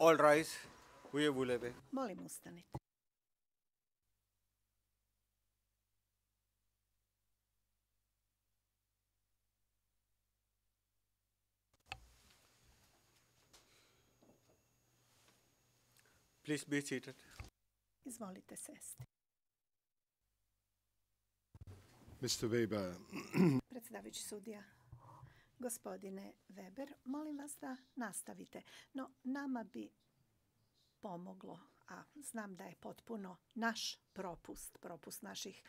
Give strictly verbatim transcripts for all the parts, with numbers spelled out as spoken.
All rise. Huye Vuleve. Molim, ustanite. Please be seated. Izvolite sesti. mister Weber. Predsjedavajući sudija, gospodine Weber, molim vas da nastavite. No, nama bi pomoglo, a znam da je potpuno naš propust, propust naših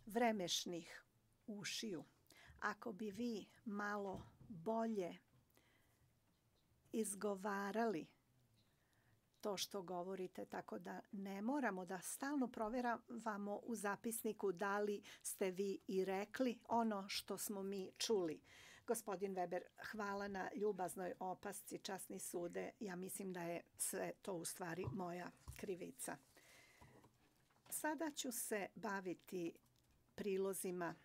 vremešnih ušiju. Ako bi vi malo bolje izgovarali to što govorite, tako da ne moramo da stalno proveravamo u zapisniku da li ste vi i rekli ono što smo mi čuli. Gospodin Weber, hvala na ljubaznoj opasci, časni sude. Ja mislim da je sve to u stvari moja krivica. Sada ću se baviti prilozima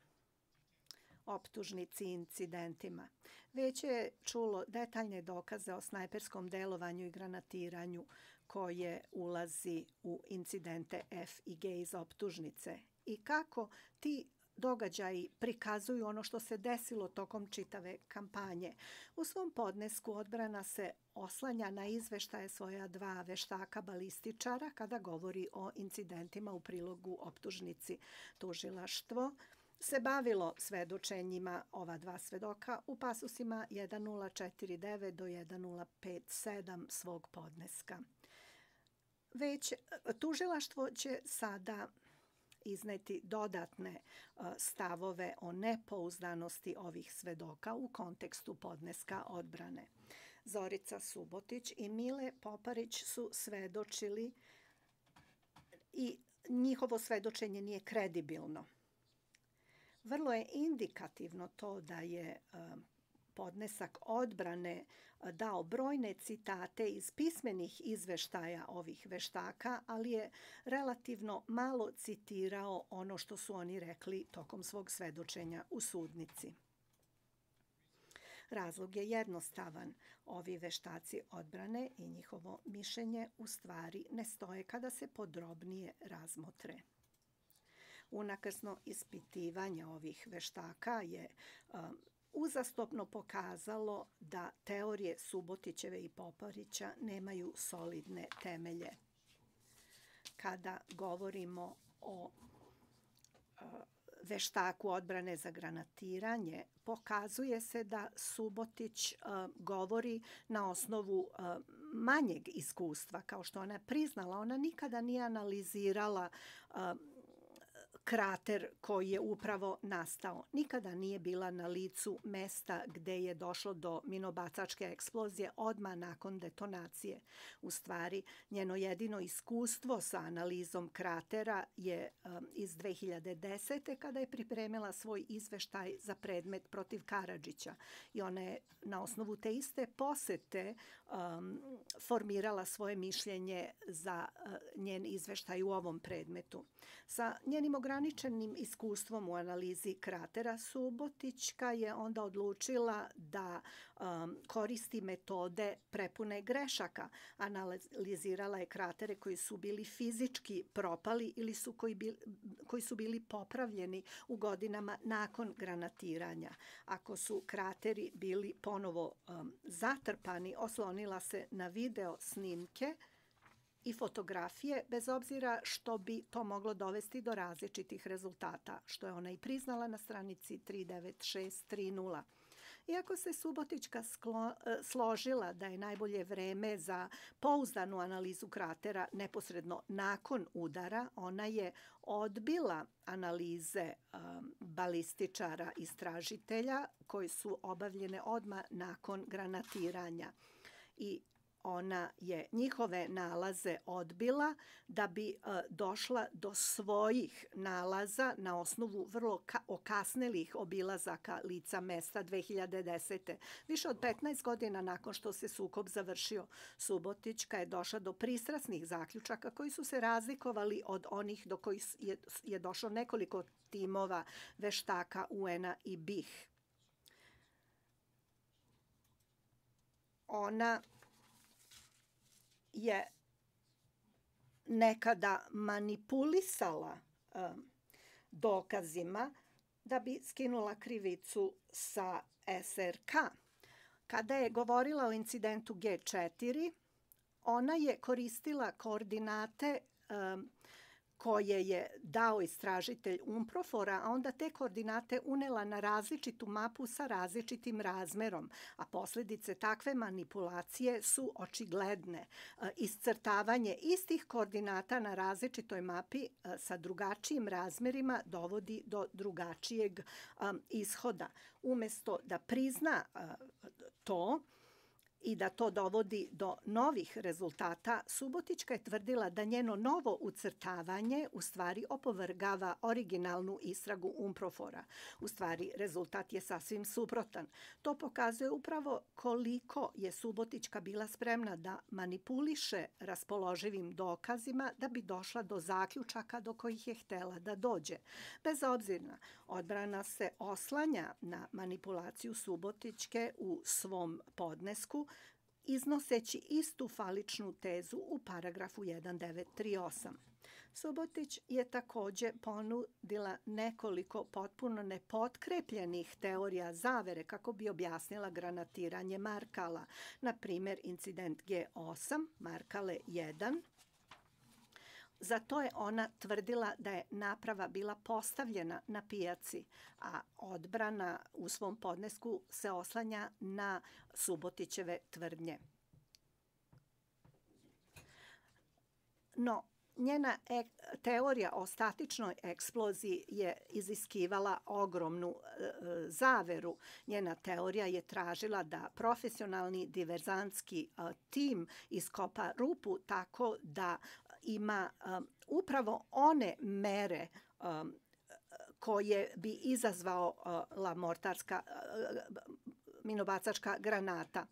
optužnici i incidentima. Već je čulo detaljne dokaze o snajperskom delovanju i granatiranju koje ulazi u incidente F i G iz optužnice i kako ti događaji prikazuju ono što se desilo tokom čitave kampanje. U svom podnesku odbrana se oslanja na izveštaje svoja dva veštaka balističara kada govori o incidentima u prilogu optužnici. Tužilaštvo se bavilo svedočenjima ova dva svedoka u pasusima hiljadu četrsto četrdeset devet do hiljadu pedeset sedam svog podneska. Već tužilaštvo će sada izneti dodatne stavove o nepouzdanosti ovih svedoka u kontekstu podneska odbrane. Zorica Subotić i Mile Poparić su svedočili i njihovo svedočenje nije kredibilno. Vrlo je indikativno to da je podnesak odbrane dao brojne citate iz pismenih izveštaja ovih veštaka, ali je relativno malo citirao ono što su oni rekli tokom svog svedočenja u sudnici. Razlog je jednostavan. Ovi veštaci odbrane i njihovo mišljenje u stvari ne stoje kada se podrobnije razmotre. Unakrsno ispitivanje ovih veštaka je um, uzastopno pokazalo da teorije Subotićeve i Poparića nemaju solidne temelje. Kada govorimo o uh, veštaku odbrane za granatiranje, pokazuje se da Subotić uh, govori na osnovu uh, manjeg iskustva. Kao što ona priznala, ona nikada nije analizirala uh, krater koji je upravo nastao. Nikada nije bila na licu mesta gde je došlo do minobacačke eksplozije odmah nakon detonacije. U stvari, njeno jedino iskustvo sa analizom kratera je um, iz dve hiljade desete. kada je pripremila svoj izveštaj za predmet protiv Karadžića. I ona je na osnovu te iste posete um, formirala svoje mišljenje za uh, njen izveštaj u ovom predmetu. Sa njenim ograničenim iskustvom u analizi kratera, Subotićka je onda odlučila da um, koristi metode prepune grešaka. Analizirala je kratere koji su bili fizički propali ili su koji, bili, koji su bili popravljeni u godinama nakon granatiranja. Ako su krateri bili ponovo um, zatrpani, oslonila se na video snimke i fotografije, bez obzira što bi to moglo dovesti do različitih rezultata, što je ona i priznala na stranici tri devet šest tri nula. Iako se Subotićka sklo, složila da je najbolje vreme za pouzdanu analizu kratera neposredno nakon udara, ona je odbila analize um, balističara istražitelja koji su obavljene odmah nakon granatiranja. I ona je njihove nalaze odbila da bi uh, došla do svojih nalaza na osnovu vrlo ka- okasnelih obilazaka lica mesta dve hiljade desete. Više od petnaest godina nakon što se sukob završio, Subotićka je došla do pristrasnih zaključaka koji su se razlikovali od onih do kojih je, je došlo nekoliko timova veštaka U N-a i B I H. Ona je nekada manipulisala dokazima da bi skinula krivicu sa S R K. Kada je govorila o incidentu G četiri, ona je koristila koordinate koje je dao istražitelj UNPROFOR-a, a onda te koordinate unela na različitu mapu sa različitim razmerom, a posljedice takve manipulacije su očigledne. Iscrtavanje istih koordinata na različitoj mapi sa drugačijim razmerima dovodi do drugačijeg ishoda. Umjesto da prizna to i da to dovodi do novih rezultata, Subotićka je tvrdila da njeno novo ucrtavanje u stvari opovrgava originalnu istragu UNPROFOR-a. U stvari, rezultat je sasvim suprotan. To pokazuje upravo koliko je Subotićka bila spremna da manipuliše raspoloživim dokazima da bi došla do zaključaka do kojih je htela da dođe. Bez obzira, odbrana se oslanja na manipulaciju Subotićke u svom podnesku, iznoseći istu faličnu tezu u paragrafu jedan devet tri osam. Subotić je također ponudila nekoliko potpuno nepotkrepljenih teorija zavere kako bi objasnila granatiranje Markala. Na primjer, incident G osam, Markale jedan. Za to je ona tvrdila da je naprava bila postavljena na pijaci, a odbrana u svom podnesku se oslanja na Subotićeve tvrdnje. No, njena teorija o statičnoj eksploziji je iziskivala ogromnu e, zaveru. Njena teorija je tražila da profesionalni diverzantski e, tim iskopa rupu tako da ima um, upravo one mere um, koje bi izazvao uh, la mortarska uh, minobacačka granata.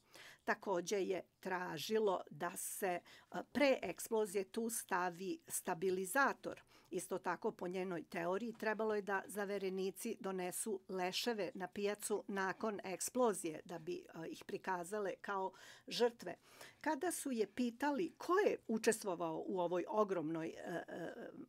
Također je tražilo da se uh, pre eksplozije tu stavi stabilizator. Isto tako, po njenoj teoriji, trebalo je da zaverenici donesu leševe na pijacu nakon eksplozije, da bi uh, ih prikazale kao žrtve. Kada su je pitali ko je učestvovao u ovoj ogromnoj uh,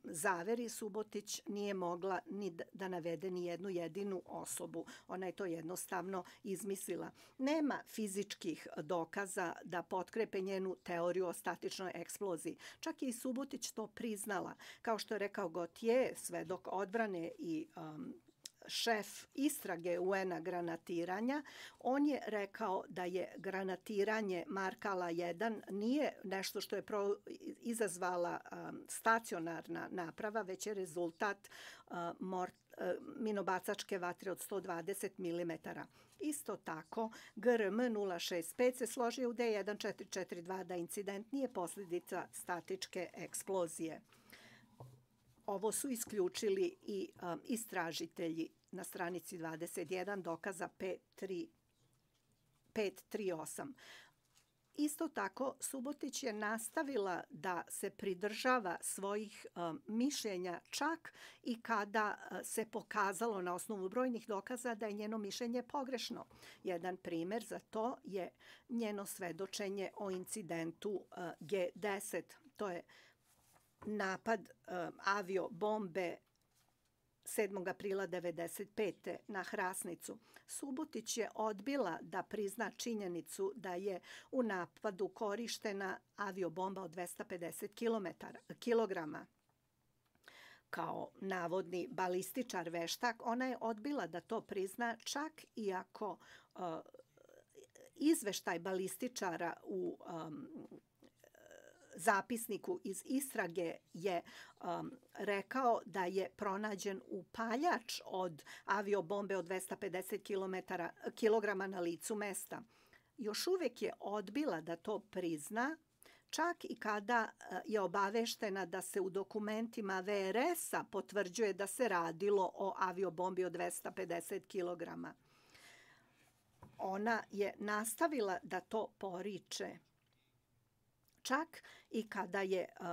zaveri, Subotić nije mogla ni da navede ni jednu jedinu osobu. Ona je to jednostavno izmislila. Nema fizičkih dokaza da potkrepe njenu teoriju o statičnoj eksploziji. Čak i Subotić to priznala. Kao što je rekao Gautier, svedok odbrane i um, šef istrage U N-a granatiranja, on je rekao da je granatiranje Markala jedan nije nešto što je pro, izazvala um, stacionarna naprava, već je rezultat uh, mort, uh, minobacačke vatre od sto dvadeset milimetara. Isto tako, G R M nula šest pet se složio u D jedan četiri četiri dva da incident nije posljedica statičke eksplozije. Ovo su isključili i um, istražitelji na stranici dvadeset jedan dokaza pet tri osam. Isto tako, Subotić je nastavila da se pridržava svojih um, mišljenja čak i kada uh, se pokazalo na osnovu brojnih dokaza da je njeno mišljenje pogrešno. Jedan primjer za to je njeno svedočenje o incidentu uh, G deset. To je napad um, aviobombe sedmog aprila devedeset pete na Hrasnicu. Subotić je odbila da prizna činjenicu da je u napadu korištena aviobomba od dvesta pedeset kilograma. Kao navodni balističar veštak, ona je odbila da to prizna čak i ako uh, izveštaj balističara u um, zapisniku iz istrage je um, rekao da je pronađen upaljač od aviobombe od dvesta pedeset kilograma na licu mesta. Još uvijek je odbila da to prizna, čak i kada je obaveštena da se u dokumentima V R S-a potvrđuje da se radilo o aviobombi od dvesta pedeset kilograma. Ona je nastavila da to poriče. Čak i kada je uh,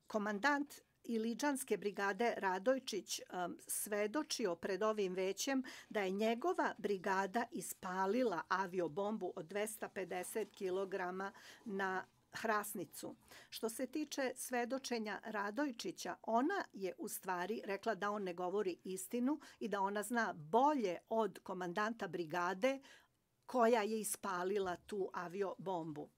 komandant Iliđanske brigade Radojčić um, svedočio pred ovim većem da je njegova brigada ispalila aviobombu od dvesta pedeset kilograma na Hrasnicu. Što se tiče svedočenja Radojčića, ona je u stvari rekla da on ne govori istinu i da ona zna bolje od komandanta brigade koja je ispalila tu aviobombu.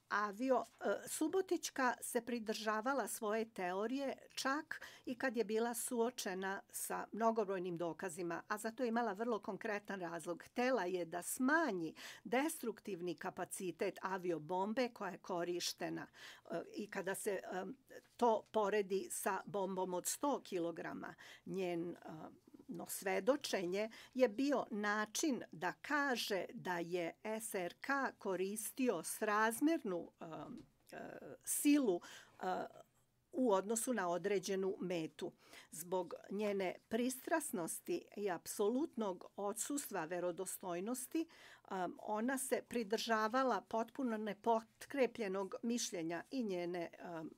Avio, Subotićka se pridržavala svoje teorije čak i kad je bila suočena sa mnogobrojnim dokazima, a za to je imala vrlo konkretan razlog. Htela je da smanji destruktivni kapacitet aviobombe koja je korištena i kada se to poredi sa bombom od sto kilograma, njen no svedočenje je bio način da kaže da je S R K koristio srazmernu uh, uh, silu uh, u odnosu na određenu metu. Zbog njene pristrasnosti i apsolutnog odsustva verodostojnosti, um, ona se pridržavala potpuno nepotkrepljenog mišljenja i njene um,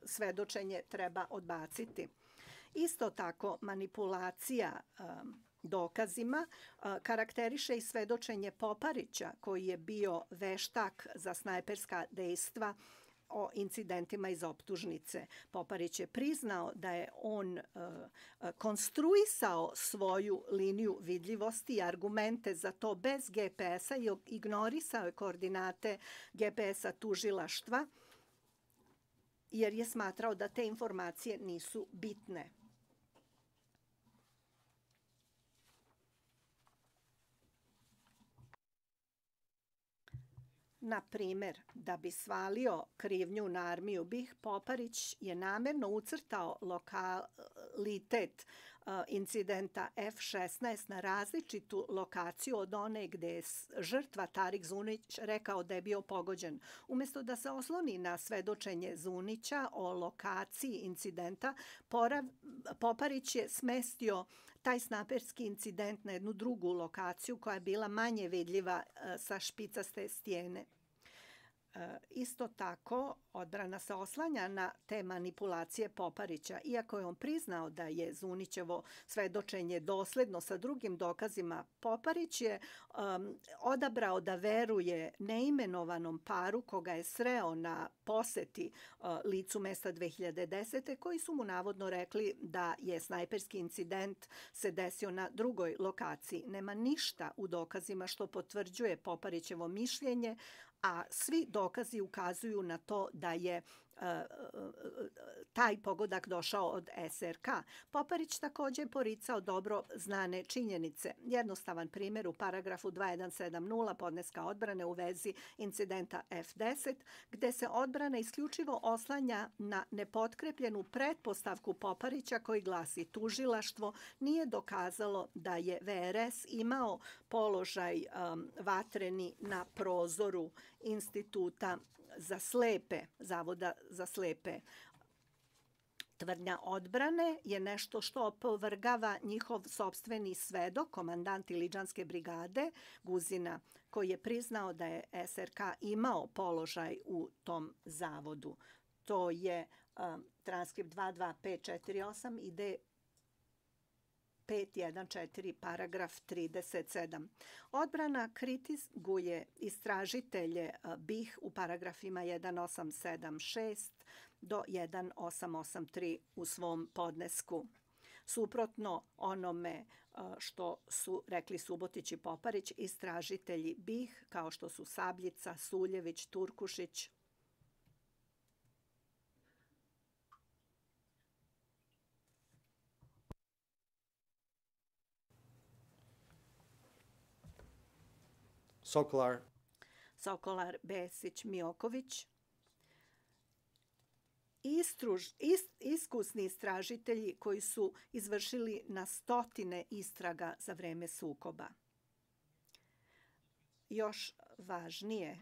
svedočenje treba odbaciti. Isto tako, manipulacija um, dokazima uh, karakteriše i svedočenje Poparića, koji je bio veštak za snajperska dejstva o incidentima iz optužnice. Poparić je priznao da je on uh, konstruisao svoju liniju vidljivosti i argumente za to bez G P S-a i ignorisao je koordinate G P S-a tužilaštva jer je smatrao da te informacije nisu bitne. Na primer, da bi svalio krivnju na armiju B i H, Poparić je namjerno ucrtao lokalitet incidenta F šesnaest na različitu lokaciju od one gde je žrtva Tarik Zunić rekao da je bio pogođen. Umjesto da se osloni na svedočenje Zunića o lokaciji incidenta, Poparić je smestio taj snaperski incident na jednu drugu lokaciju koja je bila manje vidljiva sa špicaste stijene. Isto tako, odbrana se oslanja na te manipulacije Poparića. Iako je on priznao da je Zunićevo svedočenje dosledno sa drugim dokazima, Poparić je um, odabrao da veruje neimenovanom paru koga je sreo na poseti uh, licu mesta dve hiljade desete. koji su mu navodno rekli da je snajperski incident se desio na drugoj lokaciji. Nema ništa u dokazima što potvrđuje Poparićevo mišljenje, a svi dokazi ukazuju na to da je uh, taj pogodak došao od S R K. Poparić također poricao dobro znane činjenice. Jednostavan primjer u paragrafu dva jedan sedam nula podneska odbrane u vezi incidenta F deset, gde se odbrana isključivo oslanja na nepotkrepljenu pretpostavku Poparića koji glasi: tužilaštvo nije dokazalo da je V R S imao položaj um, vatreni na prozoru Instituta za slepe, Zavoda za slepe. Tvrdnja odbrane je nešto što opovrgava njihov sopstveni svedok, komandant Iliđanske brigade Guzina, koji je priznao da je S R K imao položaj u tom zavodu. To je um, transkript dva dva pet četiri osam i D pet jedan četiri, paragraf trideset sedam. Odbrana kritizuje istražitelje B i H u paragrafima jedan osam sedam šest do jedan osam osam tri u svom podnesku. Suprotno onome što su rekli Subotić i Poparić, istražitelji B i H, kao što su Sabljica, Suljević, Turkušić, Sokolar, Sokolar, Besić, Mioković, Istruž, is, iskusni istražitelji koji su izvršili na stotine istraga za vreme sukoba. Još važnije,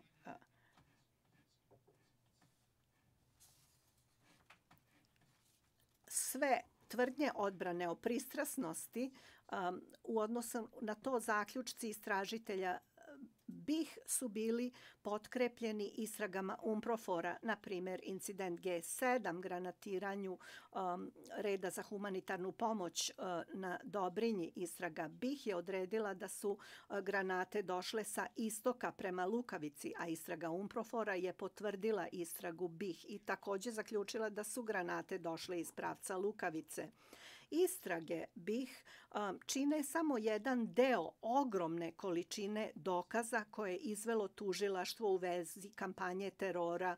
sve tvrdnje odbrane o pristrasnosti um, u odnosu na to zaključci istražitelja B B I H su bili potkrepljeni istragama UNPROFOR-a, na primjer incident G sedam, granatiranju um, reda za humanitarnu pomoć uh, na Dobrinji. Istraga B I H je odredila da su uh, granate došle sa istoka prema Lukavici, a istraga UNPROFOR-a je potvrdila istragu B I H i također zaključila da su granate došle iz pravca Lukavice. Istrage B I H um, čine samo jedan deo ogromne količine dokaza koje je izvelo tužilaštvo u vezi kampanje terora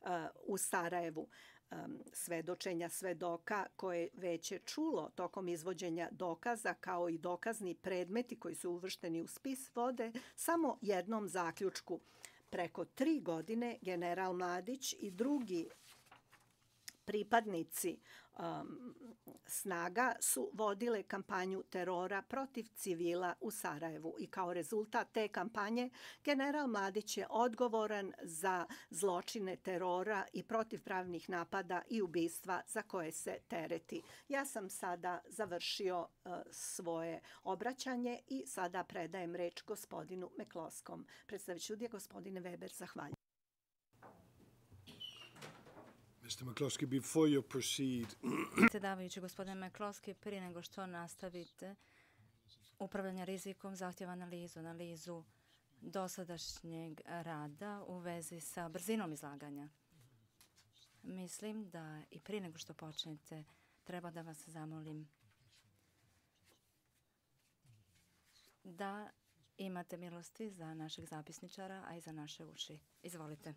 uh, u Sarajevu. Um, svedočenja svedoka koje već je čulo tokom izvođenja dokaza, kao i dokazni predmeti koji su uvršteni u spis, vode samo jednom zaključku. Preko tri godine general Mladić i drugi pripadnici um, snaga su vodile kampanju terora protiv civila u Sarajevu i kao rezultat te kampanje general Mladić je odgovoran za zločine terora i protivpravnih napada i ubistva za koje se tereti. Ja sam sada završio uh, svoje obraćanje i sada predajem reč gospodinu McCloskom. Predstavit ću je gospodine Weber, zahvaljujem. Mister McCloskey, before you proceed, Predsjedavajući, gospodine McCloskey, prije nego što nastavite upravljanje rizikom, zahtjeva analizu, analizu dosadašnjeg rada u vezi sa brzinom izlaganja. Mislim da i prije nego što počnete, treba da vas zamolim da imate milosti za našeg zapisničara, a i za naše uši. Izvolite.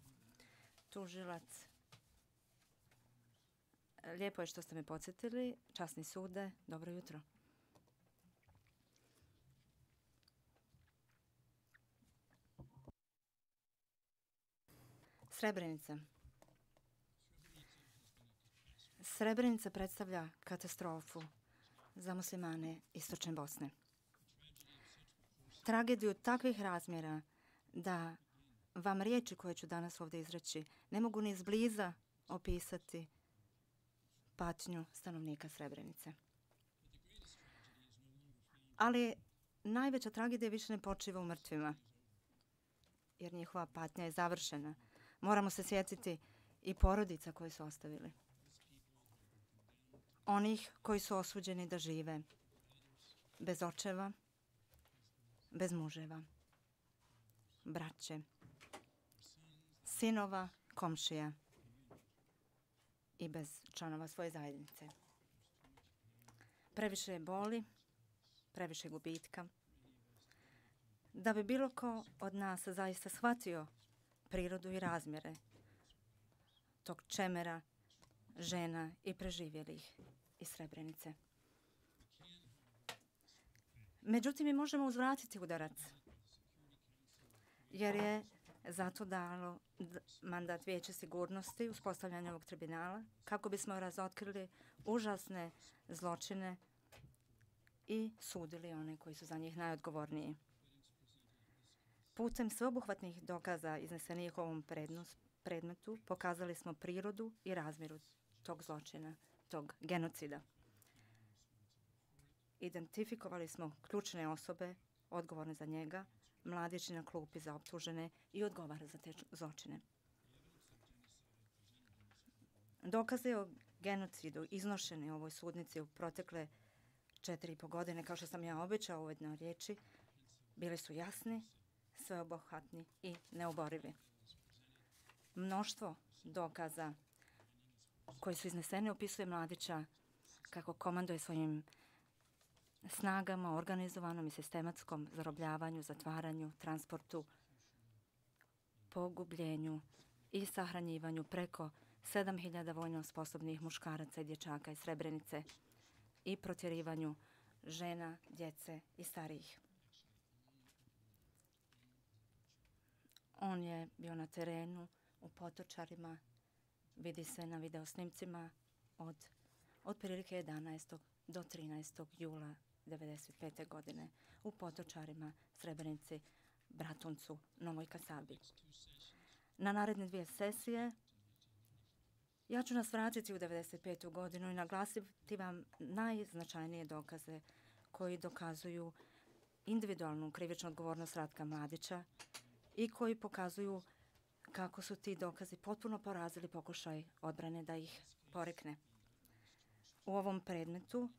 Tužilac. Lijepo je što ste me podsjetili. Časni sude, dobro jutro. Srebrenica. Srebrenica predstavlja katastrofu za muslimane istočne Bosne. Tragediju takvih razmjera da vam riječi koje ću danas ovdje izreći ne mogu ni izbliza opisati patnju stanovnika Srebrenice. Ali najveća tragedija više ne počiva u mrtvima, jer njihova patnja je završena. Moramo se sjetiti i porodica koje su ostavili. Onih koji su osuđeni da žive bez očeva, bez muževa, braće, sinova, komšija i bez članova svoje zajednice. Previše je boli, previše gubitka. Da bi bilo ko od nas zaista shvatio prirodu i razmjere tog čemera, žena i preživjelih iz Srebrenice. Međutim, mi možemo uzvratiti udarac, jer je zato dalo mandat Vijeća sigurnosti uspostavljanja ovog tribunala kako bismo razotkrili užasne zločine i sudili one koji su za njih najodgovorniji. Putem sveobuhvatnih dokaza iznesenih u ovom predmetu pokazali smo prirodu i razmjeru tog zločina, tog genocida. Identifikovali smo ključne osobe odgovorne za njega, Mladić na klupi za optužene i odgovara za te zločine. Dokaze o genocidu iznošene u ovoj sudnici u protekle četiri i po godine, kao što sam ja obećao u jednoj riječi, bili su jasni, sveobuhvatni i neoborivi. Mnoštvo dokaza koji su izneseni opisuje Mladića kako komanduje svojim snagama, organizovanom i sistematskom zarobljavanju, zatvaranju, transportu, pogubljenju i sahranjivanju preko sedam hiljada vojno sposobnih muškaraca i dječaka iz Srebrenice i protjerivanju žena, djece i starijih. On je bio na terenu u Potočarima, vidi se na videosnimcima od otprilike jedanaestog do trinaestog jula devedeset pete. godine u Potočarima, Srebrenici, Bratuncu, Novoj Kasabi. Na naredne dvije sesije ja ću nas vratiti u devedeset petu. godinu i naglasiti vam najznačajnije dokaze koji dokazuju individualnu krivičnu odgovornost Ratka Mladića i koji pokazuju kako su ti dokazi potpuno porazili pokušaj odbrane da ih porekne. U ovom predmetu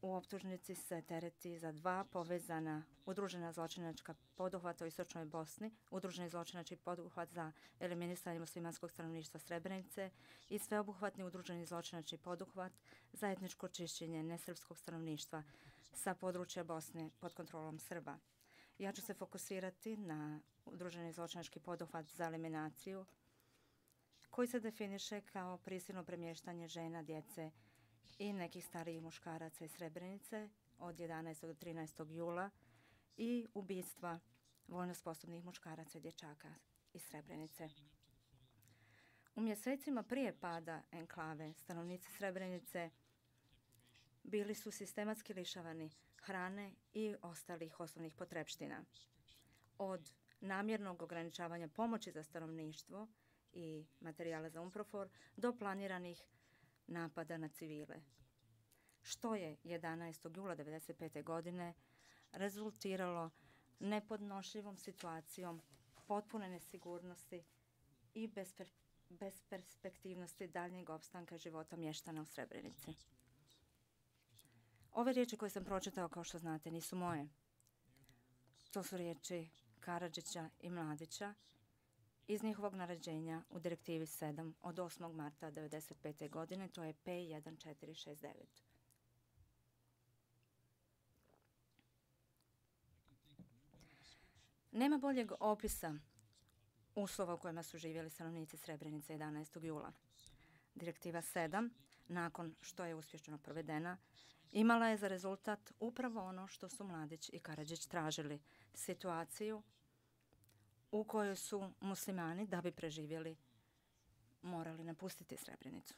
u optužnici se tereti za dva povezana udružena zločinačka poduhvata u istočnoj Bosni, udruženi zločinački poduhvat za eliminisanje muslimanskog stanovništva Srebrenice i sveobuhvatni udruženi zločinački poduhvat za etničko čišćenje nesrpskog stanovništva sa područja Bosne pod kontrolom Srba. Ja ću se fokusirati na udruženi zločinački poduhvat za eliminaciju koji se definiše kao prisilno premještanje žena, djece i nekih starijih muškaraca iz Srebrenice od jedanaestog do trinaestog jula i ubistva vojno sposobnih muškaraca i dječaka iz Srebrenice. U mjesecima prije pada enklave stanovnici Srebrenice bili su sistematski lišavani hrane i ostalih osnovnih potrepština. Od namjernog ograničavanja pomoći za stanovništvo i materijala za UNPROFOR do planiranih napada na civile, što je jedanaestog jula devedeset pete. godine rezultiralo nepodnošljivom situacijom potpune nesigurnosti i besper, besperspektivnosti daljnjeg opstanka života mještana u Srebrenici. Ove riječi koje sam pročitao, kao što znate, nisu moje. To su riječi Karadžića i Mladića iz njihovog naređenja u Direktivi sedam od osmog marta devedeset pete. godine, to je P jedan četiri šest devet. Nema boljeg opisa uslova u kojima su živjeli stanovnici Srebrenice jedanaestog jula. Direktiva sedam, nakon što je uspješno provedena, imala je za rezultat upravo ono što su Mladić i Karadžić tražili, situaciju u kojoj su muslimani, da bi preživjeli, morali napustiti Srebrenicu.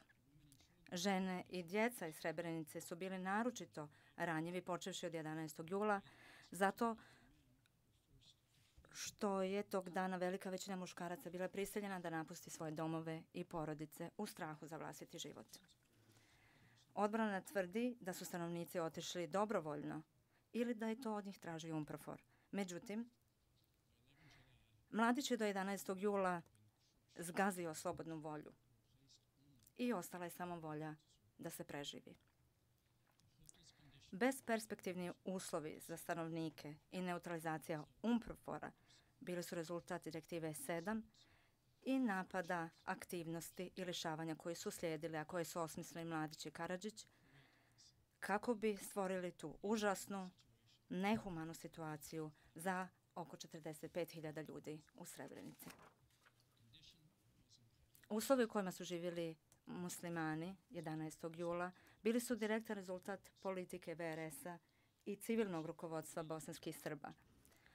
Žene i djeca iz Srebrenice su bili naročito ranjivi počevši od jedanaestog jula, zato što je tog dana velika većina muškaraca bila prisiljena da napusti svoje domove i porodice u strahu za vlastiti život. Odbrana tvrdi da su stanovnici otišli dobrovoljno ili da je to od njih tražio UNPROFOR. Međutim, Mladić je do jedanaestog jula zgazio slobodnu volju i ostala je samo volja da se preživi. Besperspektivni uslovi za stanovnike i neutralizacija UNPROFOR-a bili su rezultat Direktive sedam i napada, aktivnosti i lišavanja koji su slijedili, a koje su osmislili Mladić i Karadžić, kako bi stvorili tu užasnu, nehumanu situaciju za oko četrdeset pet hiljada ljudi u Srebrenici. Uslovi u kojima su živjeli muslimani jedanaestog jula bili su direktan rezultat politike V R S-a i civilnog rukovodstva bosanskih Srba,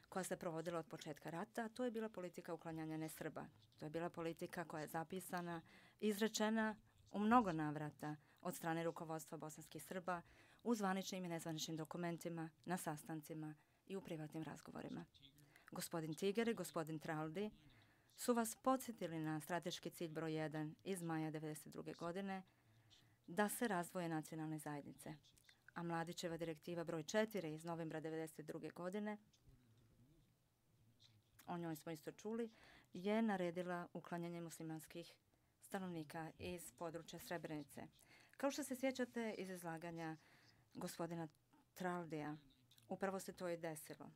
koja se provodila od početka rata. To je bila politika uklanjanja nesrba. To je bila politika koja je zapisana, izrečena u mnogo navrata od strane rukovodstva bosanskih Srba u zvaničnim i nezvaničnim dokumentima, na sastancima i u privatnim razgovorima. Gospodin Tiger i gospodin Traldi su vas podsjetili na strateški cilj broj jedan iz maja devedeset druge. godine da se razvoje nacionalne zajednice, a Mladićeva direktiva broj četiri iz novembra devedeset druge. godine, o njoj smo isto čuli, je naredila uklanjanje muslimanskih stanovnika iz područja Srebrenice. Kao što se sjećate iz izlaganja gospodina Traldija, upravo se to i desilo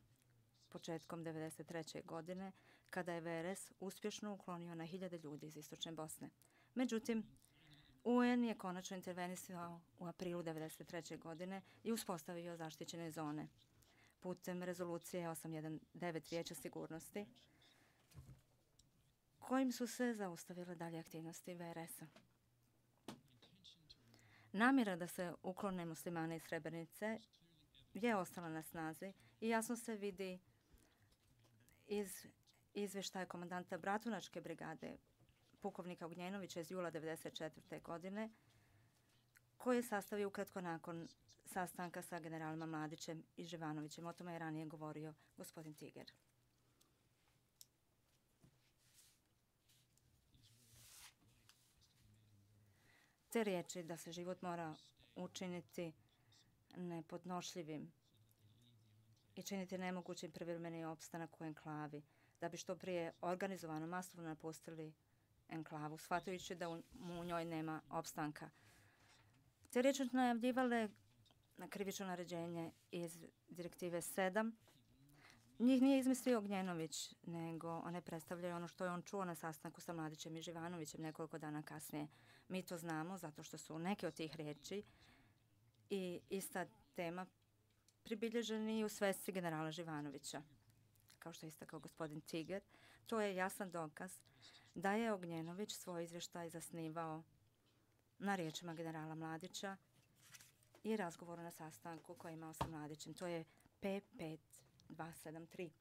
početkom devedeset treće. godine, kada je V R S uspješno uklonio na hiljade ljudi iz istočne Bosne. Međutim, U N je konačno intervenisao u aprilu devedeset treće. godine i uspostavio zaštićene zone putem rezolucije osam jedan devet Vijeća sigurnosti, kojim su se zaustavile dalje aktivnosti V R S-a. Namjera da se uklone muslimane iz Srebrenice je ostala na snazi i jasno se vidi iz izvještaja komandanta Bratunačke brigade pukovnika Ognjenovića iz jula devedeset četvrte. godine, koji je sastavio ukratko nakon sastanka sa generalima Mladićem i Živanovićem. O tome je ranije govorio gospodin Tiger. Te riječi da se život mora učiniti nepodnošljivim i činiti nemogućim privremeni opstanak u enklavi, da bi što prije organizovano masovno napustili enklavu, shvatajući da u, u njoj nema opstanka. Te riječi su najavljivale na krivično naređenje iz direktive sedam. Njih nije izmislio Ognjenović, nego one predstavljaju ono što je on čuo na sastanku sa Mladićem i Živanovićem nekoliko dana kasnije. Mi to znamo zato što su neke od tih riječi i ista tema pribilježeni u svesci generala Živanovića. Kao što je istakao gospodin Tiger, to je jasan dokaz da je Ognjenović svoj izvještaj zasnivao na riječima generala Mladića i razgovoru na sastanku koji je imao sa Mladićem. To je P pet dva sedam tri.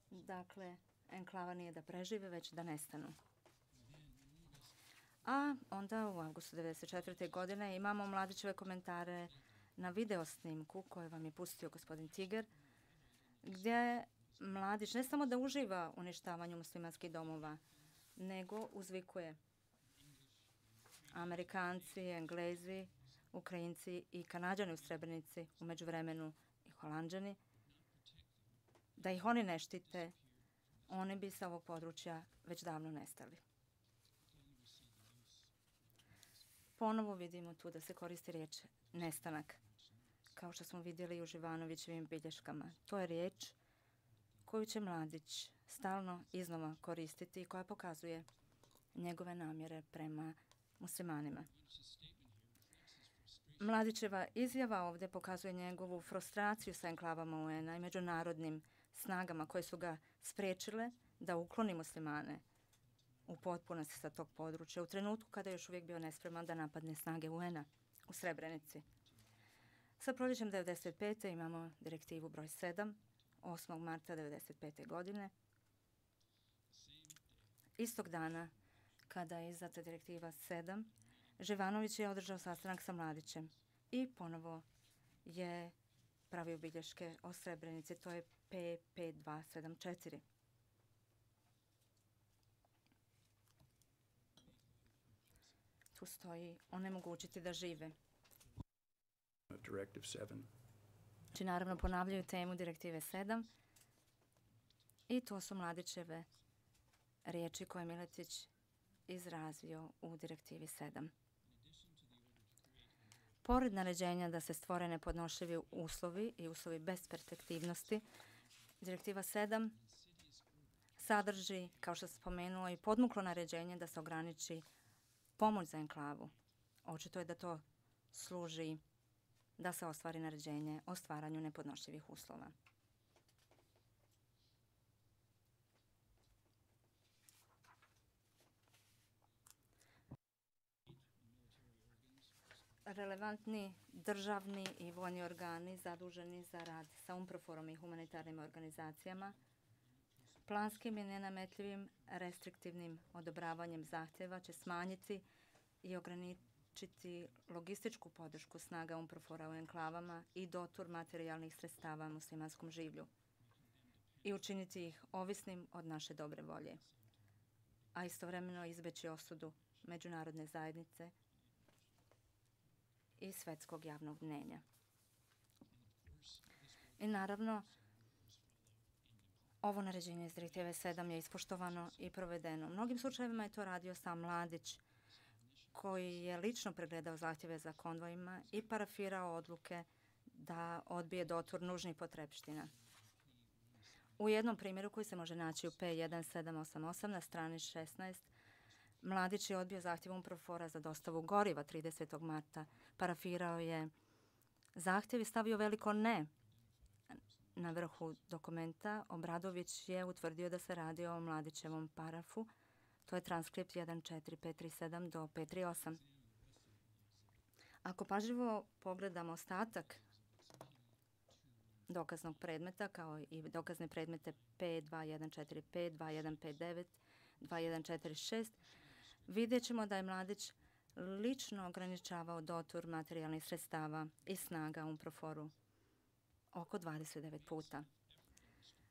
Dakle, enklava nije da prežive, već da nestanu. A onda u avgustu devedeset četvrte. godine imamo Mladićeve komentare na video snimku koje vam je pustio gospodin Tiger, gdje Mladić ne samo da uživa u uništavanju muslimanskih domova, nego uzvikuje: Amerikanci, Englezi, Ukrajinci i Kanađani u Srebrenici, u međuvremenu i Holanđani, da ih oni ne štite, oni bi sa ovog područja već davno nestali. Ponovo vidimo tu da se koristi riječ nestanak, kao što smo vidjeli i u Živanovićevim bilješkama. To je riječ koju će Mladić stalno iznova koristiti i koja pokazuje njegove namjere prema muslimanima. Mladićeva izjava ovdje pokazuje njegovu frustraciju sa enklavama U N-a i međunarodnim snagama koje su ga spriječile da ukloni muslimane u potpunosti sa tog područja u trenutku kada je još uvijek bio nespreman da napadne snage U N-a u Srebrenici. Sa proljećem devedeset pete. imamo direktivu broj sedam, osmog marta devedeset pete. godine. Istog dana kada je izdata direktiva sedam, Živanović je održao sastanak sa Mladićem i ponovo je pravio bilješke o Srebrenici. To je P pet dva sedam četiri. Tu stoji onemogućiti da žive. Znači, naravno, ponavljaju temu direktive sedam i to su Mladićeve riječi koje je Miletić izrazio u direktivi sedam. Pored naređenja da se stvore nepodnošljivi uslovi i uslovi bez perspektivnosti, direktiva sedam sadrži, kao što se spomenuo, i podmuklo naređenje da se ograniči pomoć za enklavu. Očito je da to služi da se ostvari naređenje o stvaranju nepodnošljivih uslova. Relevantni državni i vojni organi zaduženi za rad sa UNPROFOR-om i humanitarnim organizacijama planskim i nenametljivim restriktivnim odobravanjem zahtjeva će smanjiti i ograničiti logističku podršku snaga UNPROFOR-a u enklavama i dotur materijalnih sredstava muslimanskom življu i učiniti ih ovisnim od naše dobre volje, a istovremeno izbeći osudu međunarodne zajednice i svetskog javnog mnjenja. I naravno, ovo naređenje iz direktive sedam je ispoštovano i provedeno. U mnogim slučajevima je to radio sam Mladić, koji je lično pregledao zahtjeve za konvojima i parafirao odluke da odbije dotur nužnih potrepština. U jednom primjeru koji se može naći u P jedan sedam osam osam na strani šesnaest, Mladić je odbio zahtjev UNPROFOR-a za dostavu goriva tridesetog marta. Parafirao je zahtjev i stavio veliko ne. Na vrhu dokumenta Obradović je utvrdio da se radi o Mladićevom parafu. To je transkript jedan četiri pet tri sedam do pet tri osam. Ako pažljivo pogledamo ostatak dokaznog predmeta, kao i dokazne predmete P dva jedan četiri pet, dva jedan pet devet, dva jedan četiri šest, vidjet ćemo da je Mladić lično ograničavao dotur materijalnih sredstava i snaga UNPROFOR-u oko dvadeset devet puta.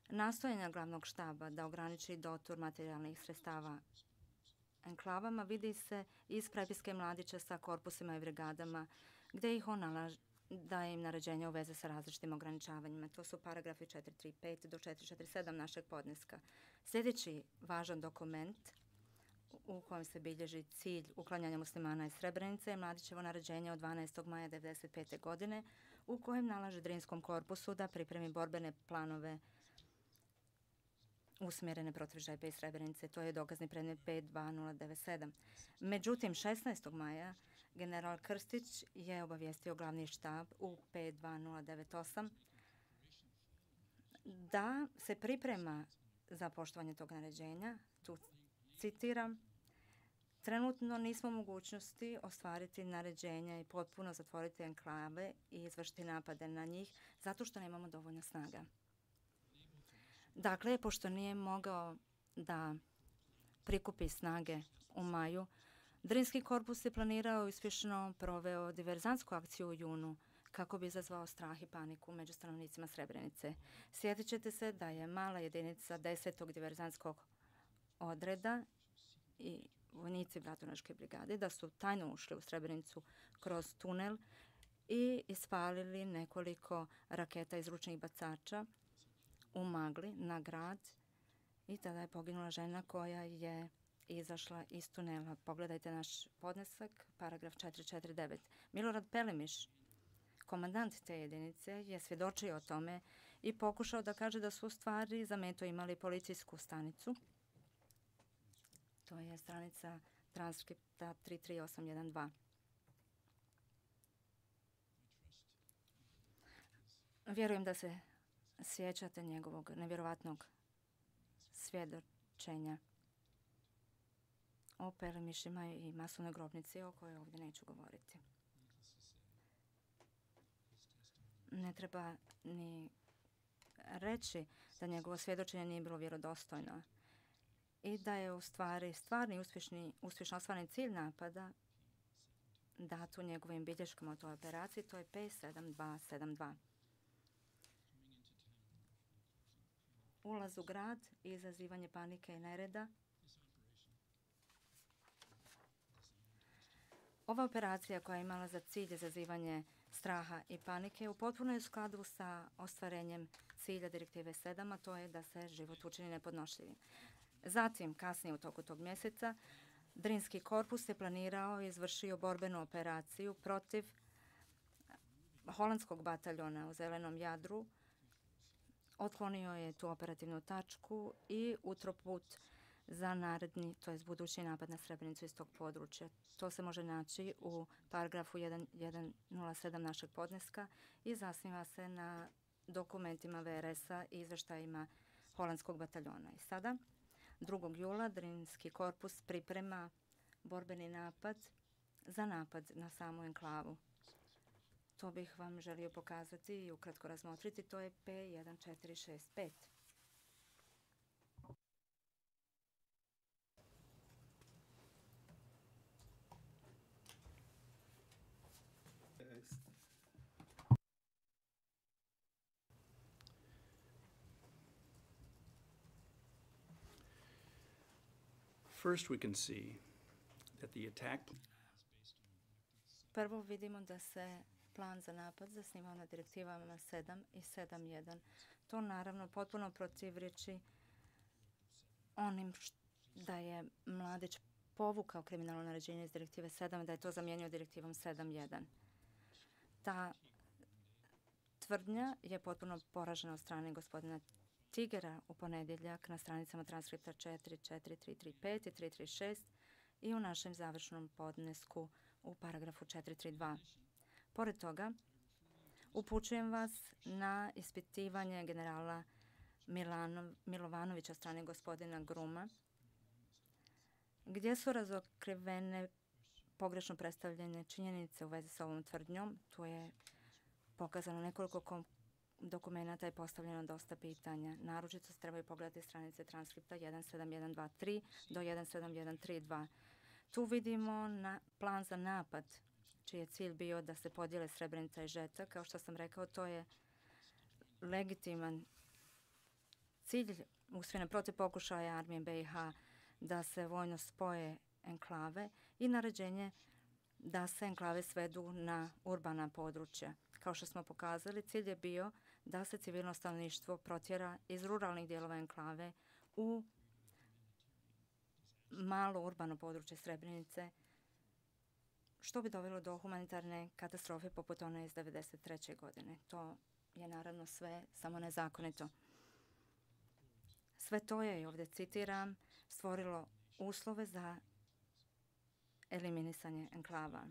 Nastojanja glavnog štaba da ograniči dotur materijalnih sredstava enklavama vidi se iz prepiske Mladića sa korpusima i brigadama, gdje ih on daje im naređenja u veze sa različitim ograničavanjima. To su paragrafi četiri tri pet do četiri četiri sedam našeg podneska. Sljedeći važan dokument u kojem se bilježi cilj uklanjanja muslimana iz Srebrenice je Mladićevo naređenje od dvanaestog maja devedeset pete. godine u kojem nalaže Drinskom korpusu da pripremi borbene planove usmjerene protiv Žepa i Srebrenice. To je dokazni predmet pet dva nula devet sedam. Međutim, šesnaestog maja general Krstić je obavijestio glavni štab u pet dva nula devet osam da se priprema za poštovanje tog naređenja. Tu citiram: trenutno nismo u mogućnosti ostvariti naređenja i potpuno zatvoriti enklave i izvršiti napade na njih zato što nemamo dovoljno snaga. Dakle, pošto nije mogao da prikupi snage u maju, Drinski korpus je planirao i uspješno proveo diverzantsku akciju u junu kako bi izazvao strah i paniku među stanovnicima Srebrenice. Sjetit ćete se da je mala jedinica desetog diverzantskog odreda i vojnici Bratunačke brigade da su tajno ušli u Srebrenicu kroz tunel i ispalili nekoliko raketa iz ručnih bacača u magli na grad i tada je poginula žena koja je izašla iz tunela. Pogledajte naš podnesak, paragraf četiri četiri devet. Milorad Pelemiš, komandant te jedinice, je svjedočio o tome i pokušao da kaže da su u stvari za meto imali policijsku stanicu. To je stranica transkripta tri tri osam jedan dva. Vjerujem da se sjećate njegovog nevjerovatnog svjedočenja o Pelemišima i masovnoj grobnici o kojoj ovdje neću govoriti. Ne treba ni reći da njegovo svjedočenje nije bilo vjerodostojno i da je u stvari stvarni uspješni, uspješno ostvaren cilj napada dat u njegovim bilješkama o toj operaciji. To je P sedam dva sedam dva. Ulaz u grad i izazivanje panike i nereda. Ova operacija koja je imala za cilj izazivanje straha i panike u potpuno je u skladu sa ostvarenjem cilja direktive sedam, a to je da se život učini nepodnošljivim. Zatim, kasnije u toku tog mjeseca, Drinski korpus je planirao i izvršio borbenu operaciju protiv holandskog bataljona u Zelenom Jadru. Otklonio je tu operativnu tačku i utroput za naredni, to je budući napad na Srebrenicu iz tog područja. To se može naći u paragrafu jedan nula sedam našeg podneska i zasniva se na dokumentima V R S-a i izveštajima holandskog bataljona. I sada, drugog jula, Drinski korpus priprema borbeni napad za napad na samu enklavu. To bih vam želio pokazati i ukratko razmotriti. To je P jedan četiri šest pet. First, we can see that the attack. Prvo vidimo da se plan za napad zasnivao na direktivama sedam i sedam jedan. To naravno potpuno protivreči onim da je Mladić povukao kriminalno naređenje iz direktive sedam, da je to zamijenio direktivom sedam jedan. Ta tvrdnja je potpuno poražena od strane gospodina Tigera u ponedjeljak na stranicama transkripta četiri četiri tri tri pet i tri tri šest i u našem završnom podnesku u paragrafu četiri tri dva. Pored toga, upućujem vas na ispitivanje generala Milanov, Milovanovića od strane gospodina Gruma, gdje su razokrivene pogrešno predstavljene činjenice u vezi sa ovom tvrdnjom. Tu je pokazano nekoliko dokumenata i postavljeno dosta pitanja. Naročito se trebaju pogledati stranice transkripta jedan sedam jedan dva tri do jedan sedam jedan tri dva. Tu vidimo na plan za napad, čiji je cilj bio da se podijele Srebrenica i Žeta. Kao što sam rekao, to je legitiman cilj usmjeren protiv pokušaja armije B i H da se vojno spoje enklave i naređenje da se enklave svedu na urbana područja. Kao što smo pokazali, cilj je bio da se civilno stanovništvo protjera iz ruralnih dijelova enklave u malo urbano područje Srebrenice, što bi dovelo do humanitarne katastrofe poput one iz devedeset treće. godine. To je naravno sve samo nezakonito. Sve to je, i ovdje citiram, stvorilo uslove za eliminisanje enklava.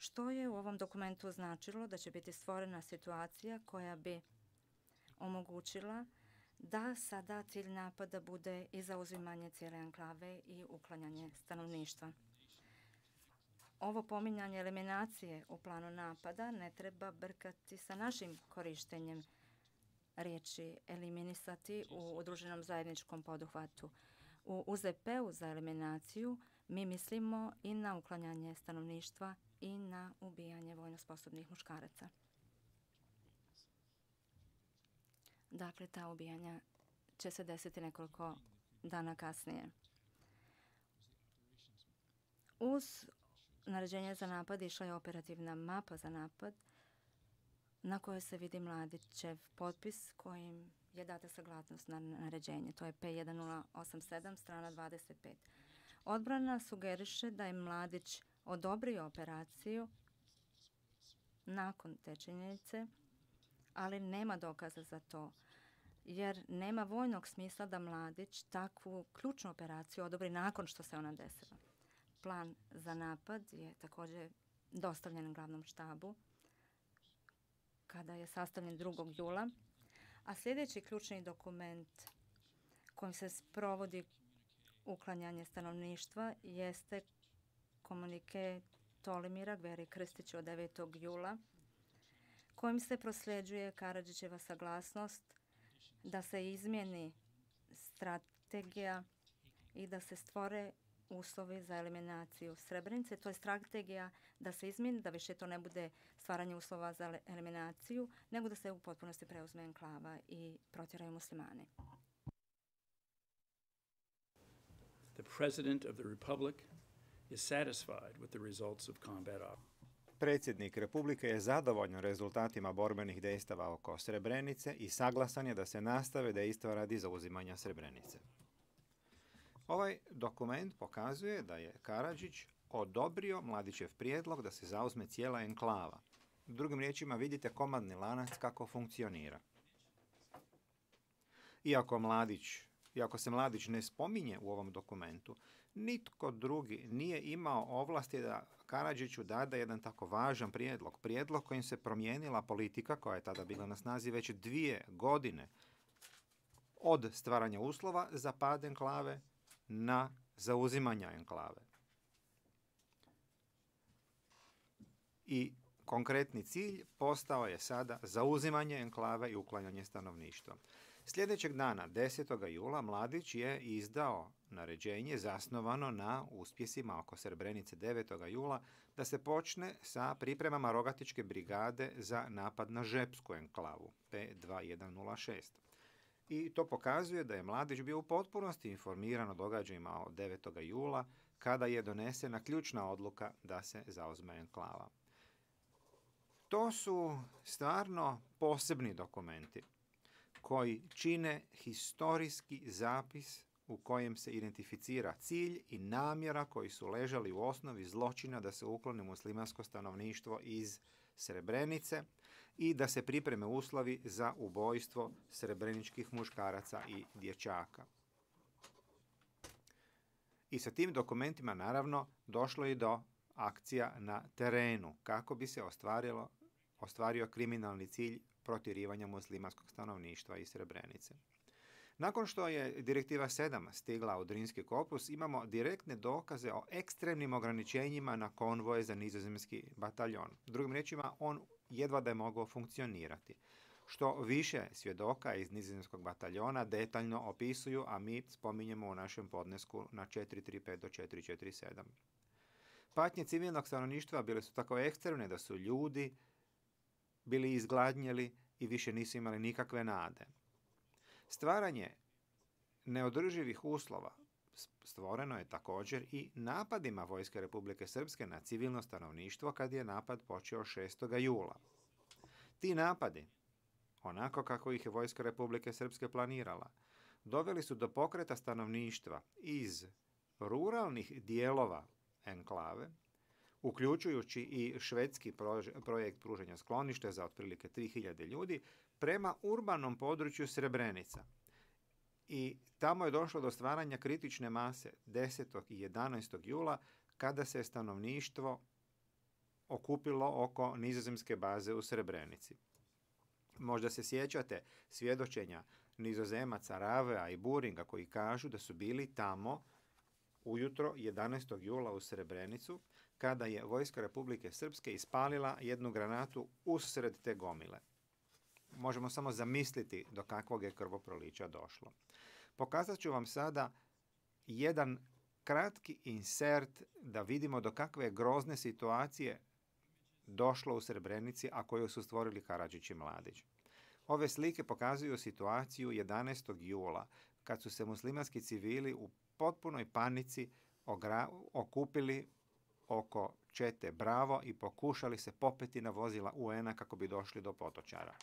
Što je u ovom dokumentu značilo da će biti stvorena situacija koja bi omogućila da sada cilj napada bude i zauzimanje cijele enklave i uklanjanje stanovništva. Ovo pominjanje eliminacije u planu napada ne treba brkati sa našim korištenjem riječi eliminisati u udruženom zajedničkom poduhvatu. U U Z P-u za eliminaciju mi mislimo i na uklanjanje stanovništva i na ubijanje vojno sposobnih muškaraca. Dakle, ta ubijanja će se desiti nekoliko dana kasnije. Uz naređenje za napad išla je operativna mapa za napad na kojoj se vidi Mladićev potpis kojim je data saglasnost na naređenje. To je P jedan nula osam sedam, strana dvadeset pet. Odbrana sugeriše da je Mladić odobrio operaciju nakon te činjenice, ali nema dokaza za to, jer nema vojnog smisla da Mladić takvu ključnu operaciju odobri nakon što se ona desila. Plan za napad je također dostavljen glavnom štabu kada je sastavljen drugog jula, a sljedeći ključni dokument kojim se sprovodi uklanjanje stanovništva jeste komunike Tolimira Gveri Krstića od devetog jula, kojim se prosljeđuje Karadžićeva saglasnost da se izmijeni strategija i da se stvore uslovi za eliminaciju Srebrenice. To je strategija da se izmijeni, da više to ne bude stvaranje uslova za eliminaciju, nego da se u potpunosti preuzme enklava i protjeraju muslimani. The President of the Republic is satisfied with the results of combat operations. Predsjednik Republike je zadovoljan rezultatima borbenih dejstava oko Srebrenice i saglasan je da se nastave dejstva radi zauzimanja Srebrenice. Ovaj dokument pokazuje da je Karadžić odobrio Mladićev prijedlog da se zauzme cijela enklava. Drugim riječima vidite komadni lanac kako funkcionira. Iako Mladić, iako se Mladić ne spominje u ovom dokumentu, nitko drugi nije imao ovlasti da Karadžiću dade jedan tako važan prijedlog. Prijedlog kojim se promijenila politika koja je tada bila na snazi već dvije godine od stvaranja uslova za pad enklave na zauzimanja enklave. I konkretni cilj postao je sada zauzimanje enklave i uklanjanje stanovništva. Sljedećeg dana, desetog jula, Mladić je izdao naređenje zasnovano na uspjesima oko Srebrenice devetog jula da se počne sa pripremama Rogatičke brigade za napad na Žepsku enklavu P dva jedan nula šest. I to pokazuje da je Mladić bio u potpunosti informiran o događajima od devetog jula kada je donesena ključna odluka da se zauzme enklava. To su stvarno posebni dokumenti koji čine historijski zapis u kojem se identificira cilj i namjera koji su ležali u osnovi zločina da se ukloni muslimansko stanovništvo iz Srebrenice i da se pripreme uslovi za ubojstvo srebreničkih muškaraca i dječaka. I sa tim dokumentima naravno došlo i do akcija na terenu kako bi se ostvarilo, ostvario kriminalni cilj protjerivanja muslimanskog stanovništva iz Srebrenice. Nakon što je direktiva sedam stigla u Drinski korpus, imamo direktne dokaze o ekstremnim ograničenjima na konvoje za nizozemski bataljon. Drugim riječima, on jedva da je mogao funkcionirati. Što više svjedoka iz nizozemskog bataljona detaljno opisuju, a mi spominjemo u našem podnesku na četiri tri pet do četiri četiri sedam. Patnje civilnog stanovništva bile su tako ekstremne da su ljudi bili izgladnjeli i više nisu imali nikakve nade. Stvaranje neodrživih uslova stvoreno je također i napadima Vojske Republike Srpske na civilno stanovništvo kad je napad počeo šestog jula. Ti napadi, onako kako ih je vojska Republike Srpske planirala, doveli su do pokreta stanovništva iz ruralnih dijelova enklave, uključujući i švedski projekt pružanja skloništa za otprilike tri hiljade ljudi, prema urbanom području Srebrenica. I tamo je došlo do stvaranja kritične mase desetog i jedanaestog jula, kada se stanovništvo okupilo oko nizozemske baze u Srebrenici. Možda se sjećate svjedočenja Nizozemaca Ravea i Buringa koji kažu da su bili tamo ujutro jedanaestog jula u Srebrenicu, kada je vojska Republike Srpske ispalila jednu granatu usred te gomile. Možemo samo zamisliti do kakvog je krvoprolića došlo. Pokazat ću vam sada jedan kratki insert da vidimo do kakve grozne situacije došlo u Srebrenici, a koju su stvorili Karadžić i Mladić. Ove slike pokazuju situaciju jedanaestog jula, kad su se muslimanski civili u potpunoj panici ogra- okupili oko čete Bravo i pokušali se popeti na vozila U N-a kako bi došli do Potočara.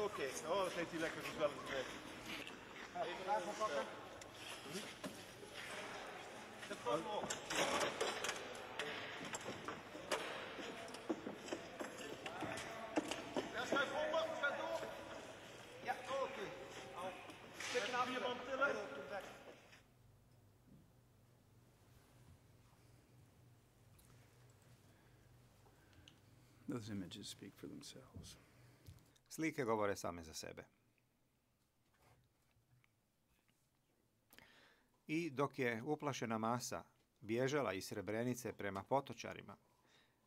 Oké, oh, dat heeft hij lekker gezellig weg. Even daarvan pakken. Zet gewoon op. Ja, schuif onder, schuif door. Ja, oké. Zet je nou vier man tillen. Those images speak for themselves. Slike govore same za sebe. I dok je uplašena masa bježala iz Srebrenice prema Potočarima,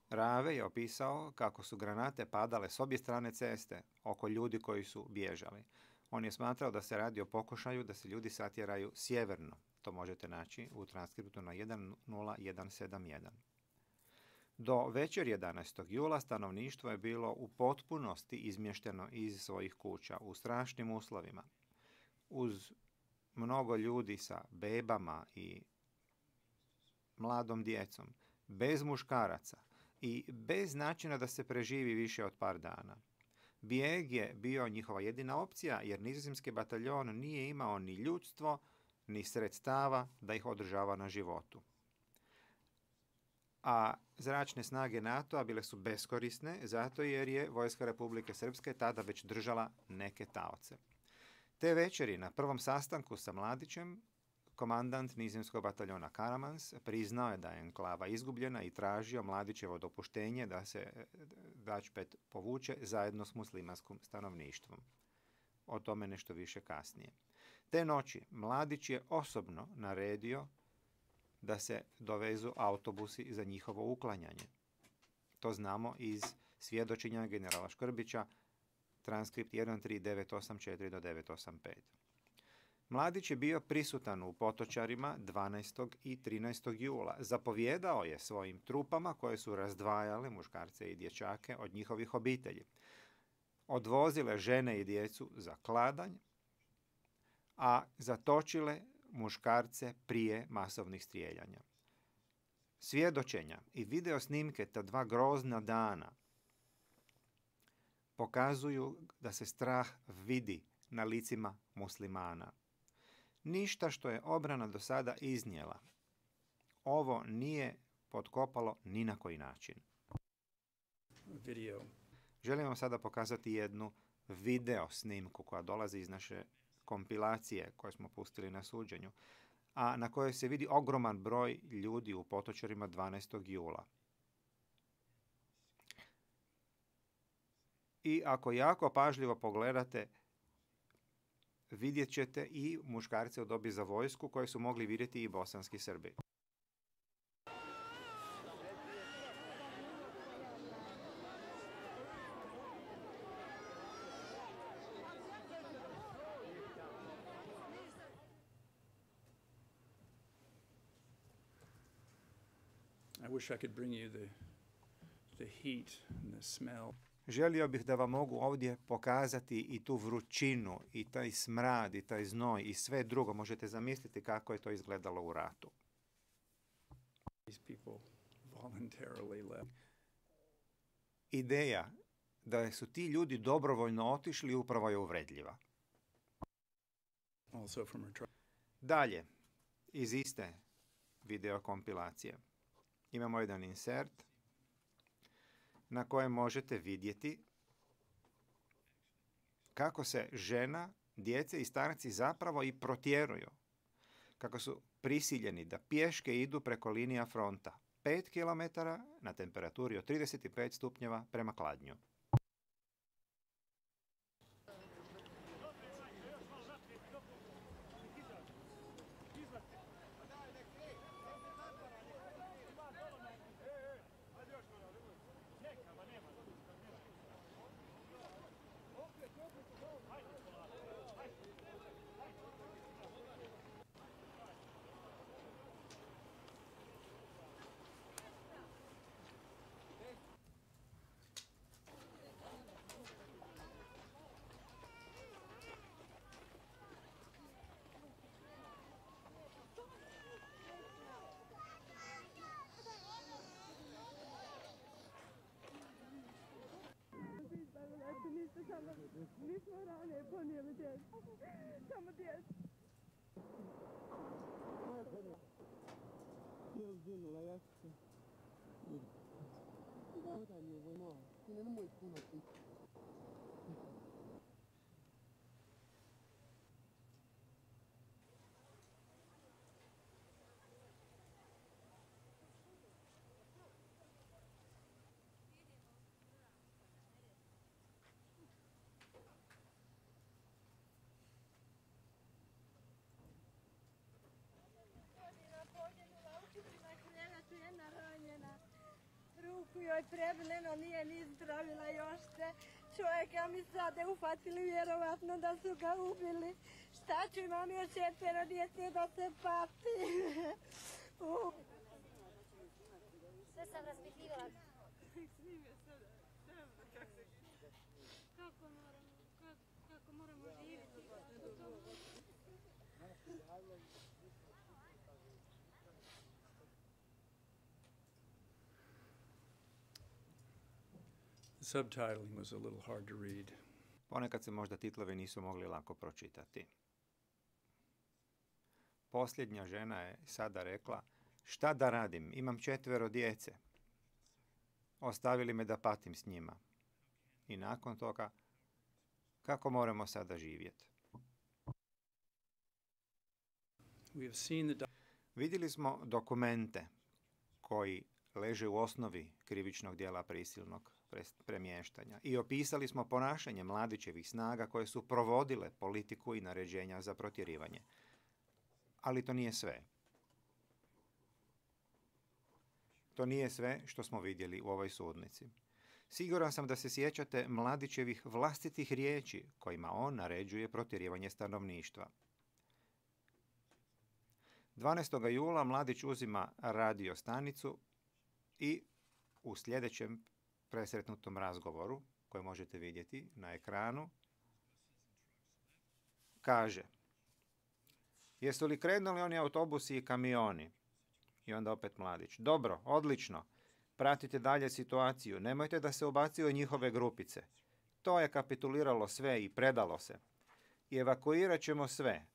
Rave je opisao kako su granate padale s obje strane ceste oko ljudi koji su bježali. On je smatrao da se radi o pokušaju da se ljudi satjeraju sjeverno. To možete naći u transkriptu na jedan nula jedan sedam jedan. Do večer jedanaestog jula stanovništvo je bilo u potpunosti izmješteno iz svojih kuća u strašnim uslovima. Uz mnogo ljudi sa bebama i mladom djecom, bez muškaraca i bez načina da se preživi više od par dana. Bijeg je bio njihova jedina opcija jer nizozemski bataljon nije imao ni ljudstvo, ni sredstava da ih održava na životu. A zračne snage NATO-a bile su beskorisne zato jer je vojska Republike Srpske tada već držala neke taoce. Te večeri na prvom sastanku sa Mladićem, komandant nizozemskog bataljona Karamans priznao je da je enklava izgubljena i tražio Mladićevo dopuštenje da se Dačpet povuče zajedno s muslimanskim stanovništvom. O tome nešto više kasnije. Te noći Mladić je osobno naredio da se dovezu autobusi za njihovo uklanjanje. To znamo iz svjedočenja generala Škrbića, transkript jedan tri devet osam četiri do devet osam pet. Mladić je bio prisutan u Potočarima dvanaestog i trinaestog jula. Zapovjedao je svojim trupama koje su razdvajale muškarce i dječake od njihovih obitelji. Odvozile žene i djecu za kladanj, a zatočile muškarce prije masovnih strijeljanja. Svjedočenja i video snimke ta dva grozna dana pokazuju da se strah vidi na licima muslimana. Ništa što je obrana do sada iznijela, ovo nije potkopalo ni na koji način. Video. Želim vam sada pokazati jednu video snimku koja dolazi iz naše kompilacije koje smo pustili na suđenju, a na kojoj se vidi ogroman broj ljudi u Potočarima dvanaestog jula. I ako jako pažljivo pogledate, vidjet ćete i muškarce u dobi za vojsku koje su mogli vidjeti i bosanski Srbi. I wish I could bring you the, the heat and the smell. Želio bih da vam mogu ovdje pokazati i tu vrućinu, i taj smrad, i taj znoj, i sve drugo. Možete zamisliti kako je to izgledalo u ratu. These people voluntarily left. Ideja da su ti ljudi dobrovoljno otišli upravo je uvredljiva. Also from her tri- Dalje, iz iste videokompilacije, imamo jedan insert na kojem možete vidjeti kako se žena, djece i starci zapravo i protjeruju. Kako su prisiljeni da pješke idu preko linija fronta. pet kilometara na temperaturi od trideset pet stupnjeva prema Kladnju. Mi smo rane ponijeli djecu. Samo djecu. Ruku joj prebileno, nije ni zdravila još se. Čovjeka mi sada uhvatili, vjerovatno da su ga ubili. Šta ću, imam još četvero djece da se pati. uh. Sve sam raspitivala. Kako moramo, kako, kako moramo živjeti? The subtitling was a little hard to read. Ponekad se možda titlovi nisu mogli lako pročitati. Posljednja žena je sada rekla, šta da radim, imam četvero djece. Ostavili me da patim s njima. I nakon toga, kako moramo sada živjeti? We have seen the doc- Vidjeli smo dokumente koji leže u osnovi krivičnog djela prisilnog premještanja i opisali smo ponašanje Mladićevih snaga koje su provodile politiku i naređenja za protjerivanje. Ali to nije sve. To nije sve što smo vidjeli u ovoj sudnici. Siguran sam da se sjećate Mladićevih vlastitih riječi kojima on naređuje protjerivanje stanovništva. dvanaestog jula Mladić uzima radio stanicu i u sljedećem presretnutom razgovoru, koji možete vidjeti na ekranu, kaže: jesu li krenuli oni autobusi i kamioni? I onda opet Mladić: dobro, odlično, pratite dalje situaciju, nemojte da se ubacuju njihove grupice. To je kapituliralo sve i predalo se. I evakuirat ćemo sve,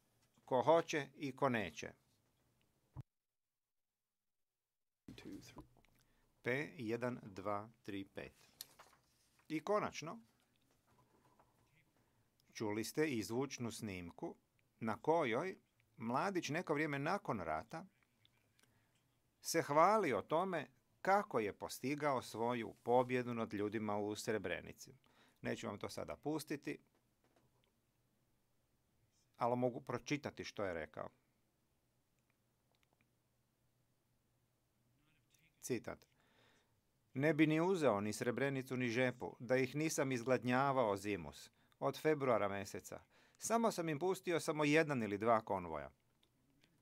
ko hoće i ko neće. P jedan dva tri pet. I konačno, čuli ste i zvučnu snimku na kojoj Mladić neko vrijeme nakon rata se hvali o tome kako je postigao svoju pobjedu nad ljudima u Srebrenici. Neću vam to sada pustiti, ali mogu pročitati što je rekao. Citat: ne bi ni uzeo ni Srebrenicu ni Žepu, da ih nisam izgladnjavao zimus, od februara mjeseca. Samo sam im pustio samo jedan ili dva konvoja.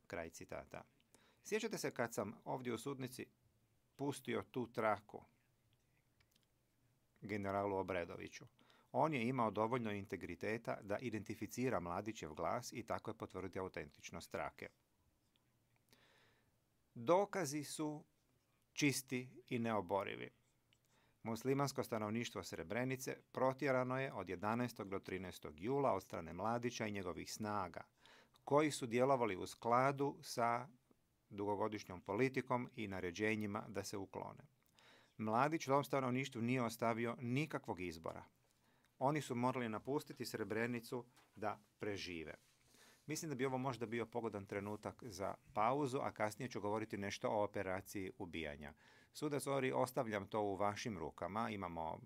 Kraj citata. Sjećate se kad sam ovdje u sudnici pustio tu traku generalu Obredoviću? On je imao dovoljno integriteta da identificira Mladićev glas i tako je potvrdio autentičnost trake. Dokazi su čisti i neoborivi. Muslimansko stanovništvo Srebrenice protjerano je od jedanaestog do trinaestog jula od strane Mladića i njegovih snaga, koji su djelovali u skladu sa dugogodišnjom politikom i naređenjima da se uklone. Mladić tom stanovništvu nije ostavio nikakvog izbora. Oni su morali napustiti Srebrenicu da prežive. Mislim da bi ovo možda bio pogodan trenutak za pauzu, a kasnije ću govoriti nešto o operaciji ubijanja. Sudac Ori, ostavljam to u vašim rukama. Imamo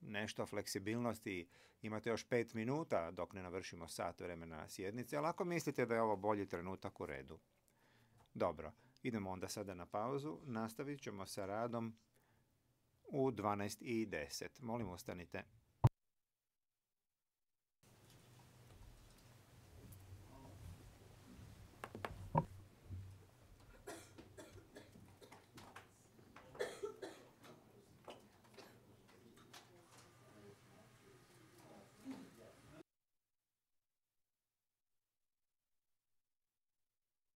nešto fleksibilnosti, imate još pet minuta dok ne navršimo sat vremena sjednice, ali ako mislite da je ovo bolji trenutak, u redu. Dobro, idemo onda sada na pauzu. Nastavit ćemo sa radom u dvanaest i deset. Molim, ostanite.